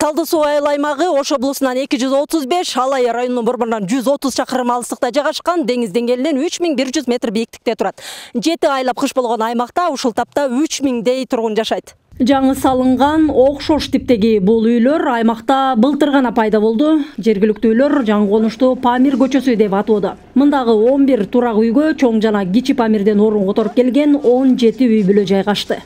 Талды суу айыл аймагы Ош облусунан 235, Алай районунун борборунан 130 чакырым алыстыкта жайгашкан, деңиз деңгээлинен 3100 метр бийиктикте турат. 7 айлап кыш болгон аймакта ушул тапта 3000дей тургун жашайт. Жаңы салынган окшош типтеги бул үйлөр аймакта былтыр гана пайда болду. Жергиликтүүлөр жаңы конушту Памир көчөсү деп атоодо. Мындагы 11 турак үйгө чоң жана кичи Памирден орун которуп келген 17 үй бүлө жайгашты.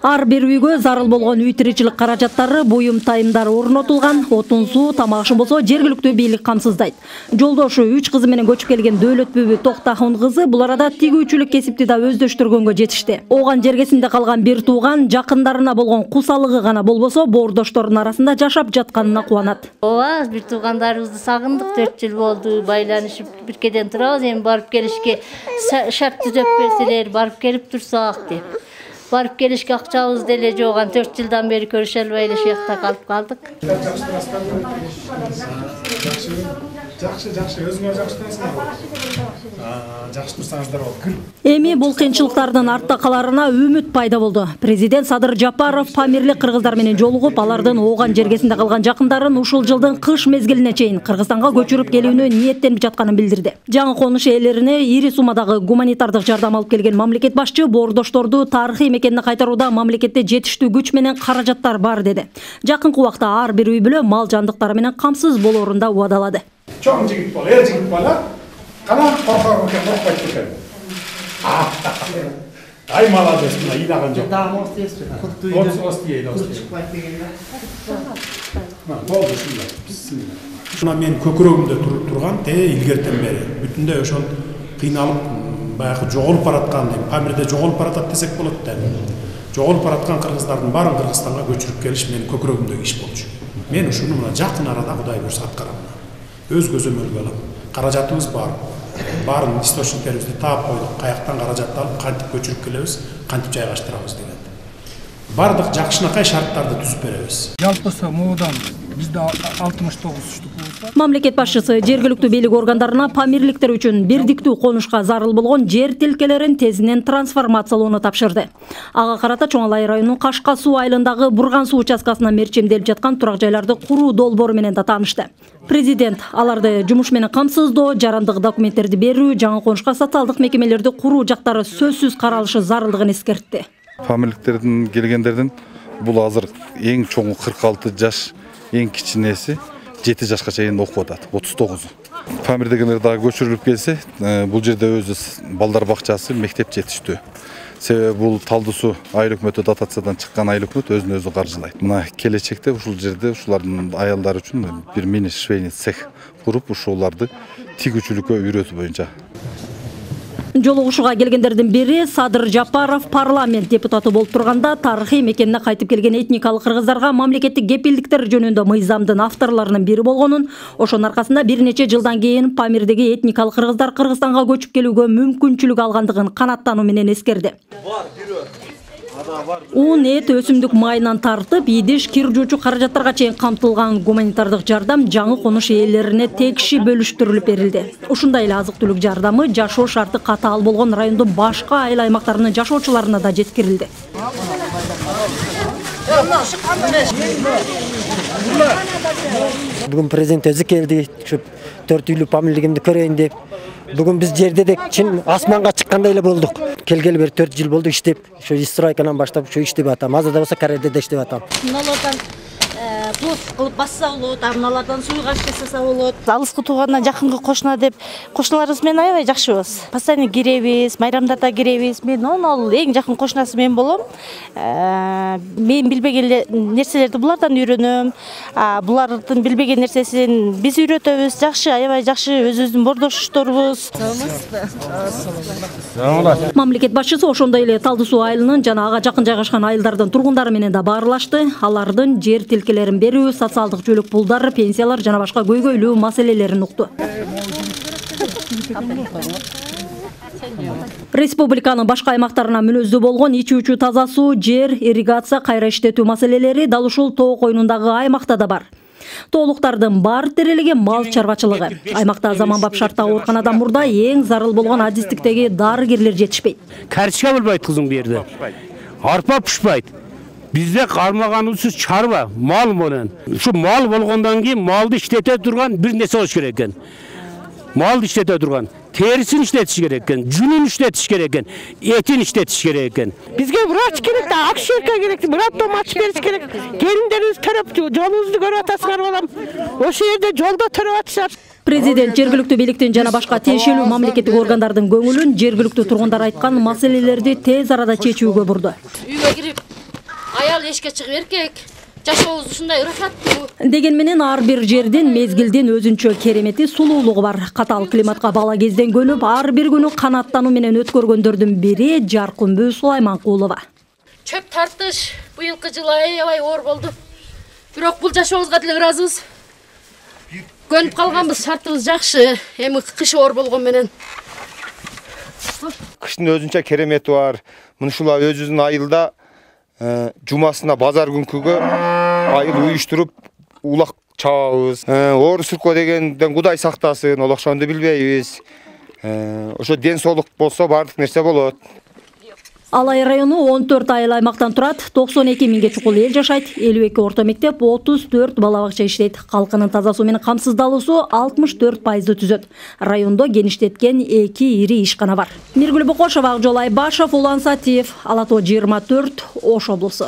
Ар бир үйгө зарыл болгон үй тиричилик каражаттары, буюм тайымдары орнотулган. Отун суу, тамак ашын болсо жергиликтүү бийлик камсыздайт. Жолдошу 3 кызы менен көчүп келген Дөөлөт бүбү Токтахун кызы бул арада тигүүчүлүк кесипти да өздөштүргөнгө жетишти. Ооган жергесинде калган бир тууган жакындарына болгон кусалыгы гана болбосо боордоштордун арасында жашап жатканына кубанат. Ооба, бир туугандарыбызды сагындык, 4 жыл болду, байланышып биркеден турабыз, эми барып келишке шарт түзөп берселер, барып келип турсак деп. Барып келишке акчабыз деле жок, 4 жылдан бери көрүшө албай эле шуякта калып калдык. Жакшы, өзүңөр жакшы турасыңарбы? Жакшы турсаңыздар болот. Эми бул кыйынчылыктардын артта каларына үмүт пайда болду. Президент Садыр Жапаров Памирлик кыргыздар менен жолугуп, алардын ооган жергесинде калган жакындарын ушул жылдын кыш мезгилине чейин Кыргызстанга көчүрүп келүүнү ниеттенип жатканын билдирди. Жаңы конуш ээлерине ири суммадагы гуманитардык жардам алып келген мамлекет башчы боордошторду тарыхый мекенине кайтарууда мамлекетте жетиштүү күч менен каражаттар бар деди. Жакынкы убакта ар бир үй бүлө мал жандыктары менен камсыз болоорун да убадалады. Чоң жигит бол, жигит бала. Кана коркпойт экен. Ай молодец, мына ыйлаган жок. Болду ушундай. Мына мен көкүрөгүмдө турган илгертен бери бүтүндөй ошол кыйналып, баягы жоголуп бараткан, Памирде жоголуп баратат десек болот да. Жоголуп бараткан кыргыздардын баарын Кыргызстанга көчүрүп келиш менин көкүрөгүмдөгү иш болчу. Мен ушуну мына жакын арада Кудай буйрса аткарам. Өз көзөмөлгө алам. Каражатыбыз бар. Барын источниктерибизди таап койдук. Каяктан каражатты алып, кантип көчүрүп келебиз, кантип жайгаштырабыз деген. Бардык жакшынакай шарттарды түзүп беребиз. Жалпысы муудан бизде 69 штук болсо. Мамлекет башчысы жергиликтүү бийлик органдарына памирликтер үчүн бирдиктүү конушка зарыл болгон жер тилкелерин тезинен трансформациялоону тапшырды. Ага карата Чоң Алай районунун Кашка суу айылындагы Бурган суу участкасына мерчемделип жаткан турак жайларды куруу долбоору менен да таанышты. Президент аларды жумуш менен камсыздоо, жарандык документтерди берүү, жаңы конушка социалдык мекемелерди куруу жактары сөзсүз каралышы зарылдыгын эскертти. Памирликтердин келгендердин бул азыр эң чоңу 46 жаш, эң кичинеси 7 жашка чейин окуп атат, 39. Памирдегилер дагы көчүрүлүп келсе, бул жерде өзү балдар бакчасы, мектеп жетиштүү. Себеби бул Талды суу айыл өкмөтү дотациядан чыккан айыл өкмөт өзүн өзү каржылайт. Мына келечекте ушул жерде ушулардын аялдары үчүн бир мини швейный цех куруп, ушуларды тигүүчүлүккө үйрөтүү боюнча. Жолугушууга келгендердин бири Садыр Жапаров парламент депутаты болуп турганда тарыхый мекенине кайтып келген этникалык кыргыздарга мамлекеттик кепилдиктер жөнүндө мыйзамдын авторлорунун бири болгонун, ошонун аркасында бир нече жылдан кийин Памирдеги этникалык кыргыздар Кыргызстанга көчүп келүүгө мүмкүнчүлүк алгандыгын канаттануу менен эскерди. Un, эт, өсүмдүк майынан тартып, идиш, кир жуучу каражаттарга чейин камтылган гуманитардык жардам жаңы конуш ээлерине текши бөлүштүрүлүп берилди. Ушундай эле азык-түлүк жардамы жашоо шарты катаал болгон райондун башка айыл аймактарынын жашоочуларына да жеткирилди. Бүгүн президент өзү келди, 4 үйлүү памирлигимди көрөйүн деп. Бүгүн биз жерде чин асманга чыккандай эле болдук. Келгели бери 4 жыл болду иштеп, ошо стройкадан баштап ошо иштеп атам. Азырда болсо Карелде да иштеп атам. Мыналардан плот кылып басса болот, мыналардан суйгаш жасаса болот. Алыскы туугандан жакынкы кошуна деп кошуналарыбыз менен аябай жакшыбыз. Постоянно киребиз, майрамдарда киребиз. Мен ал эң жакын кошунасы мен болом. Мен билбеген нерселерди булардан үйрөнөм. Булардын билбеген нерсесин биз үйрөтөбүз. Жакшы, аябай жакшы, өзүбүздүн боордошторубуз. Мамлекет башчысы ошондой эле Талды суу айылынын жана ага жакын жайгашкан айылдардын тургундары менен да баарлашты. Алардын жер тилкелерин берүү, социалдык жөлөк пулдар, пенсиялар жана башка көйгөйлүү маселелерин укту. Республиканын башка аймактарына мүнөздүү болгон ичүүчү таза суу, жер, ирригация, кайра иштетүү маселелери дал ушул тоо койнундагы аймакта да бар. Тоолуктардын бар терелиги мал чарбачылыгы. Аймакта заманбап шартта ооруканадан мурда эң зарыл болгон адистиктеги дарыгерлер жетишпейт. Карточка болбойт кызым бу жерде. Арпа пышпайт. Бизде кармаганыбыз чарба, мал менен. Ушу мал болгондон кийин малды иштете турган бир нерсе болуш керек экен. Малды иштете турган, терисин иштетиш керек экен, жүнүн иштетиш керек экен, этин иштетиш керек экен. Бизге врач керек да, акшерка керек, братом ачып бериш керек. Келиндерибиз төрөп, жолубузду көрүп атасыңар балам. Ошол жерде жолдо төрөп атышат. Президент жергиликтүү бийликтин жана башка тиешелүү мамлекеттик органдардын көңүлүн жергиликтүү тургундар айткан маселелерди тез арада чечүүгө бурду. Үйгө кирип, аял эшикке чыгып эркек жашообуз ушундай ырахаттуу деген менен ар бир жердин мезгилдин өзүнчө керемети, сулуулугу бар. Катаал климатка бала кезден көнүп, ар бир күнү канаттануу менен өткөргөндөрдүн бири Жаркынбүү Сулайманкулова. чөп тартыш быйылкы жылы аябай оор болду. Бирок бул жашообузга деле ыраазыбыз. Көнүп калганбыз, шартыбыз жакшы. Эми кыш оор болгон менен кыштын өзүнчө керемети бар. Мынушула өзүбүздүн айылда жумасына базар күнкүгө айыл уюштуруп улак чабабыз. Оор сүркө дегенден Кудай сактасын, ол ошондо билбейбиз. Ошо ден соолук болсо баардык нерсе болот. Алай району 14 айыл аймактан турат, 92 миңге чукул эл жашайт, 52 орто мектеп, 34 бала бакча иштейт. Калкынын таза суу менен камсыздалуусу 64% түзөт. Райондо геништеткен 2 ири ишкана бар. Миргүл Бокошова, Акжол Айбашев, Улан Сатиев, Ала Тоо 24, Ош облусу.